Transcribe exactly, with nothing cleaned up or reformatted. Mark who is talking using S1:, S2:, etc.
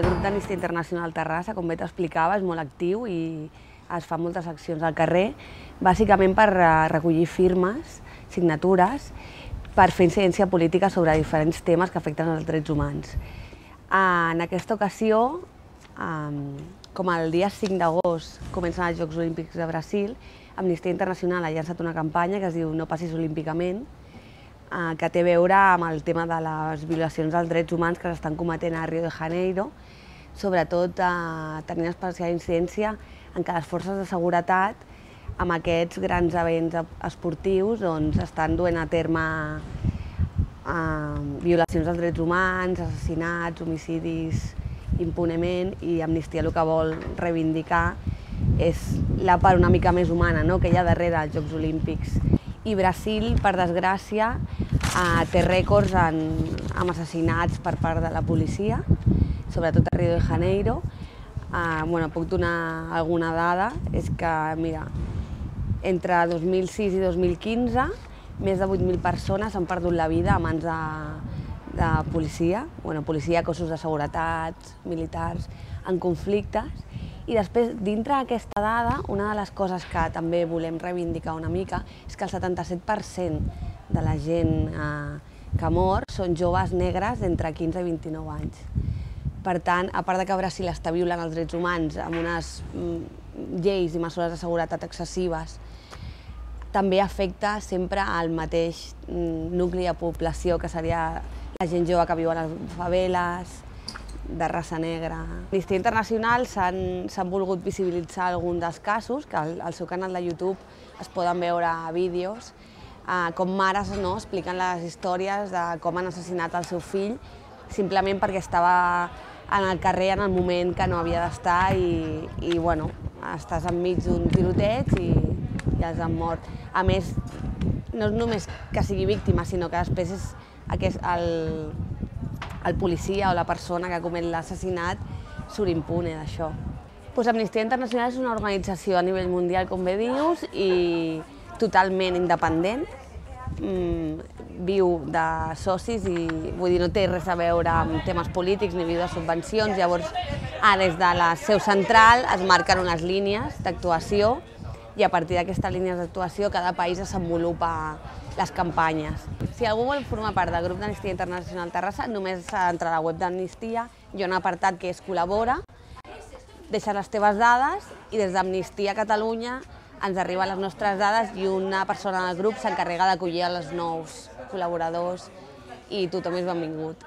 S1: El grup d'Amnistia Internacional Terrassa, com bé t'explicava, és molt actiu i es fan moltes accions al carrer, bàsicament per recollir firmes, signatures, per fer incidència política sobre diferents temes que afecten els drets humans. En aquesta ocasió, com el dia cinc d'agost comencen els Jocs Olímpics de Brasil, Amnistia Internacional ha llançat una campanya que es diu No passis olímpicament, que té a veure amb el tema de les violacions dels drets humans que s'estan cometent a Rio de Janeiro, sobretot tenint especial incidència en què les forces de seguretat, amb aquests grans events esportius, estan duent a terme violacions dels drets humans, assassinats, homicidis impunement, i Amnistia el que vol reivindicar és la part una mica més humana que hi ha darrere dels Jocs Olímpics. I Brasil, per desgràcia, té rècords amb assassinats per part de la policia, sobretot a Rio de Janeiro. Puc donar alguna dada, és que, mira, entre dos mil sis i dos mil quinze, més de vuit mil persones han perdut la vida a mans de policia, policia, cossos de seguretat, militars, en conflictes. I després, dintre d'aquesta dada, una de les coses que també volem reivindicar una mica és que el setanta-set per cent de la gent que mor són joves negres d'entre quinze i vint-i-nou anys. Per tant, a part que Brasil està violant els drets humans amb unes lleis i mesures de seguretat excessives, també afecta sempre al mateix nucli de població, que seria la gent jove que viu a les faveles, de raça negra. Amnistia Internacional s'han volgut visibilitzar alguns dels casos, que al seu canal de YouTube es poden veure vídeos, com mares expliquen les històries de com han assassinat el seu fill, simplement perquè estava en el carrer en el moment que no havia d'estar i estàs enmig d'un tiroteig i els han mort. A més, no és només que sigui víctima, sinó que després és el el policia o la persona que comet l'assassinat surt impune d'això. Amnistia Internacional és una organització a nivell mundial, com bé dius, i totalment independent. Viu de socis i no té res a veure amb temes polítics ni viu de subvencions. Llavors, des de la seu central es marquen unes línies d'actuació i a partir d'aquestes línies d'actuació cada país desenvolupa les campanyes. Si algú vol formar part del grup d'Amnistia Internacional Terrassa, només s'ha d'entrar a la web d'Amnistia, hi ha un apartat que és Col·labora, deixes les teves dades i des d'Amnistia Catalunya ens arriben les nostres dades i una persona del grup s'encarrega d'acollir els nous col·laboradors i tothom és benvingut.